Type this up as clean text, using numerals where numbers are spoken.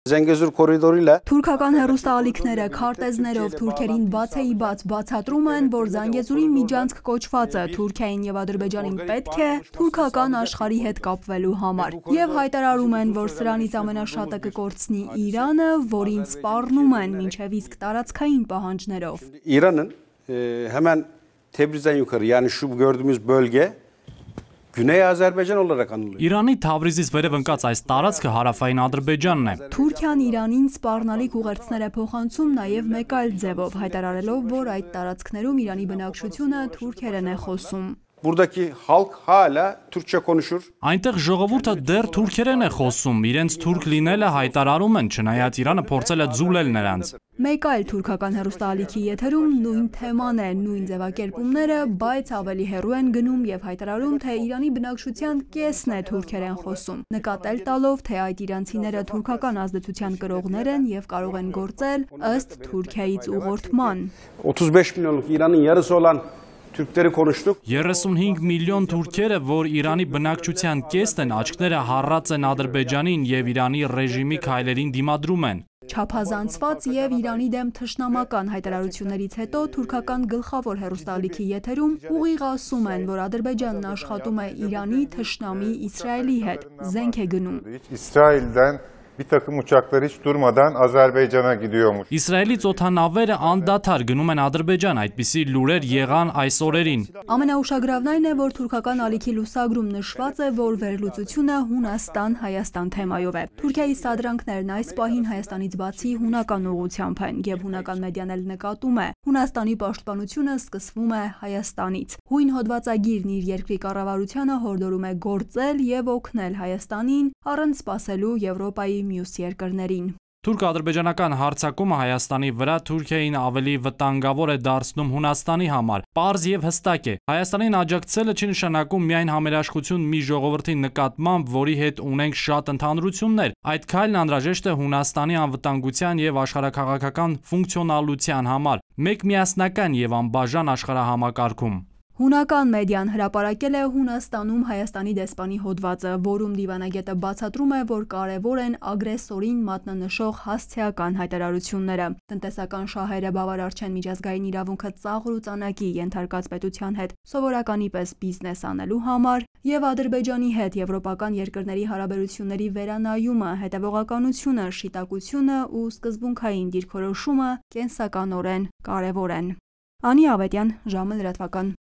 Zengezur կորիդորիլը Թուրքական հեռուստաալիքները քարտեզներով թուրքերին բացեի բաց բացատրում են, որ Զանգեզուրի միջանցք կոչվածը Թուրքիային եւ Ադրբեջանին պետք է թուրքական աշխարհի հետ կապվելու համար եւ հայտարարում են, որ սրանից ամենաշատը կկորցնի Իրանը, որին սպառնում են մինչեւ իսկ տարածքային պահանջներով İran'ın hemen Tebriz'den yukarı yani şu gördüğümüz bölge Güney Azerbaycan olarak anılıyor. İrանի Թավրիզից վերև ընկած այս տարածքը հարավային Ադրբեջանն է։ Թուրքիան Իրանին սպառնալիք ուղերձներ է փոխանցում նաև մեկ այլ ձևով, հայտարարելով, որ այդ տարածքներում Իրանի բնակչությունը թուրքերեն է խոսում։ Buradaki halk hala Türkçe konuşur. Այնտեղ ժողովուրդը դեռ թուրքերեն է խոսում, իրենց թուրք լինելը հայտարարում են, չնայած Իրանը փորձել է ձուլել նրանց։ Մեկ այլ թուրքական հեռուստաալիքի եթերում նույն թեման է, նույն ձևակերպումները, բայց ավելի հեռու են գնում եւ հայտարարում, թե Իրանի բնակչության կեսն է թուրքերեն խոսում, նկատել տալով, թե այդ իրանցիները թուրքական ազդեցության կրողներ են եւ կարող են գործել ըստ Թուրքիայից ուղղորդման։ 35 milyonluk İran'ın yarısı olan Türkleri konuştuk. 35 միլիոն թուրքերը, որ Իրանի բնակչության կեսն են, աչքները հառած են Ադրբեջանին եւ Իրանի ռեժիմի քայլերին դիմադրում են։ Չափազանցված եւ Իրանի դեմ թշնամական հայտարարություններից հետո թուրքական գլխավոր հեռուստաալիքի եթերում ուղիղ ասում են, որ Ադրբեջանն աշխատում է Իրանի թշնամի Իսրայելի հետ, զենք է գնում։ İsrail'den bir takım uçaklar hiç durmadan Azerbaycan'a gidiyormuş. Իսրայելից օդանավերը անդադար գնում են Ադրբեջան, այդպիսի լուրեր եղան այս օրերին։ Ամենաուշագրավն այն է, որ թուրքական ալիքի լուսագրում նշված է, որ վերլուծությունը Հունաստան-Հայաստան թեմայով է։ Թուրքիայի սադրանքներն այս պահին Հայաստանից բացի հունական ուղղությամբ են, եւ հունական մեդիան էլ նկատում է։ Հունաստանի պաշտպանությունը սկսվում է Հայաստանից։ Հույն հոդվածագիրն իր երկրի կառավարությանը հորդորում է գործել եւ օգնել Հայաստանին առանց սպասելու Եվրոպայի մյուս երկրներին։ Թուրք-ադրբեջանական հարձակումը Հայաստանի վրա Թուրքիային ավելի վտանգավոր է դարձնում Հունաստանի համար։ Պարզ եւ հստակ է։ Հայաստանին աջակցելը չի նշանակում միայն համերաշխություն մի ժողովրդի նկատմամբ, որի հետ ունենք շատ ընդհանրություններ։ Այդ քայլն անհրաժեշտ է Հունաստանի անվտանգության եւ աշխարհաքաղաքական ֆունկցիոնալության համար, մեկ միասնական եւ անբաժան աշխարհահամակարգում։ Հունական մեդիան հրապարակել է Հունաստանում Հայաստանի դեսպանի հոդվածը, որում դիվանագետը բացատրում է, որ կարևոր են ագրեսորին մատնանշող հասցեական հայտարարությունները։ Տնտեսական շահերը բավարար չեն միջազգային իրավունքը ծաղր ու ծանակի ենթարկած պետության հետ սովորականի պես բիզնես անելու համար եւ Ադրբեջանի հետ եվրոպական երկրների հարաբերությունների վերանայումը, հետեւողականությունը, շիտակությունը ու սկզբունքային դիրքորոշումը կենսականորեն կարևոր են։ Անի Ավետյան, ժամը լրատվական։